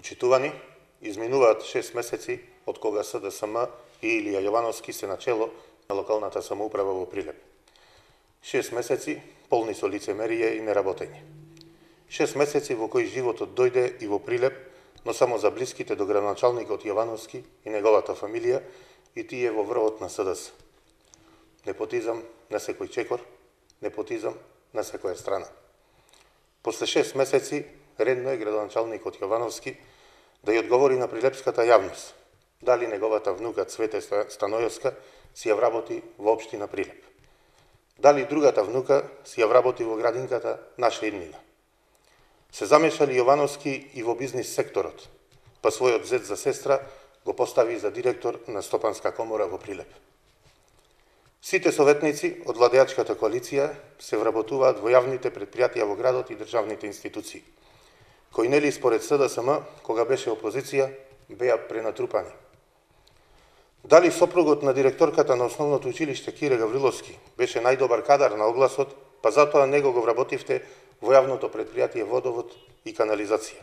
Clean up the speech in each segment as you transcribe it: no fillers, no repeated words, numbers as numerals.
Почитувани, изминуваат 6 месеци од кога СДСМ и Илија Јовановски се начело на локалната самоуправа во Прилеп. 6 месеци полни со лицемерие и неработење. 6 месеци во кои животот дојде и во Прилеп, но само за блиските до градоначалникот Јовановски и неговата фамилија и тие во врвот на СДС. Непотизам на секој чекор, непотизам на секоја страна. После 6 месеци редно е градоначалникот Јовановски да ја одговори на прилепската јавност дали неговата внука Цвете Станојовска си ја вработи во општина Прилеп. Дали другата внука си ја вработи во градинката Наша иднина. Се замешали Јовановски и во бизнис секторот, па својот зет за сестра го постави за директор на Стопанска комора во Прилеп. Сите советници од владеачката коалиција се вработуваат во јавните предпријатија во градот и државните институции, кои нели според СДСМ, кога беше опозиција, беа пренатрупани. Дали сопругот на директорката на основното училиште Кире Гавриловски беше најдобар кадар на огласот, па затоа него го вработивте во јавното предпријатие Водовод и канализација?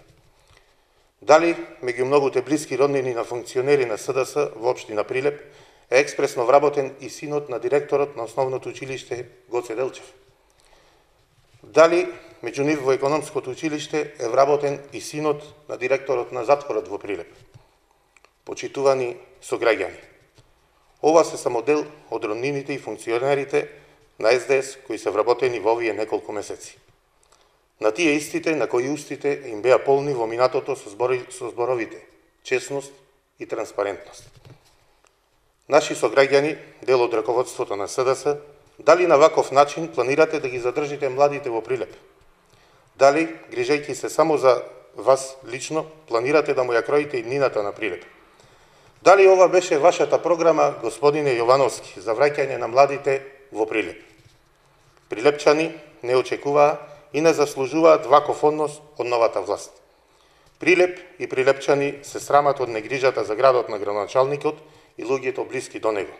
Дали меѓу многуте блиски роднини на функционери на СДС во општина Прилеп е експресно вработен и синот на директорот на основното училиште Гоце Делчев? Дали меѓу нив во економското училиште е вработен и синот на директорот на затворот во Прилеп? Почитувани сограѓани, ова се само дел од роднините и функционерите на СДС кои се вработени во овие неколку месеци. На тие истите на кои устите им беа полни во минатото со зборовите честност и транспарентност. Наши сограѓани, дел од раководството на СДС, дали на ваков начин планирате да ги задржите младите во Прилеп? Дали, грижејќи се само за вас лично, планирате да му ја кроите иднината на Прилеп? Дали ова беше вашата програма, господине Јовановски, за враќање на младите во Прилеп? Прилепчани не очекуваа и не заслужуваат ваков однос од новата власт. Прилеп и прилепчани се срамат од негрижата за градот на градоначалникот и луѓето блиски до него.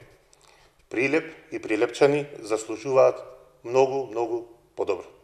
Прилеп и прилепчани заслужуваат многу подобро.